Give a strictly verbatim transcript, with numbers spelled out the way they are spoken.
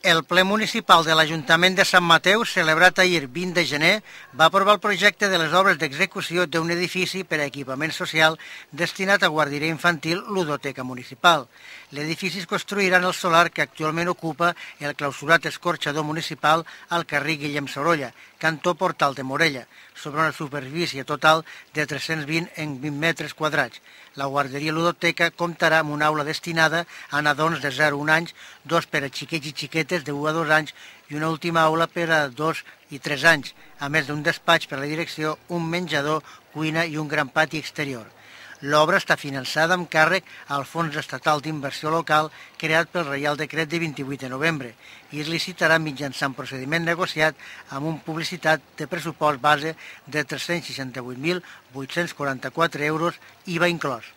El ple municipal de l'Ajuntament de Sant Mateu, celebrat ahir vint de gener, va aprovar el projecte de les obres d'execució d'un edifici per a equipament social destinat a guarderia infantil ludoteca municipal. L'edifici es construirà en el solar que actualment ocupa el clausurat escorxador municipal al carrer Guillem Sorolla, cantó Portal de Morella, sobre una superfície total de tres-cents vint en vint metres quadrats. La guarderia ludoteca comptarà amb una aula destinada a nadons de zero a un anys, dos per a xiquets i xiquetes de u a dos anys i una última aula per a dos i tres anys, a més d'un despatx per a la direcció, un menjador, cuina i un gran pati exterior. L'obra està finançada amb càrrec al Fons Estatal d'Inversió Local creat pel Reial Decret de vint-i-vuit de novembre i es licitarà mitjançant procediment negociat amb una publicitat de pressupost base de tres-cents seixanta-vuit mil vuit-cents quaranta-quatre euros, I V A inclòs.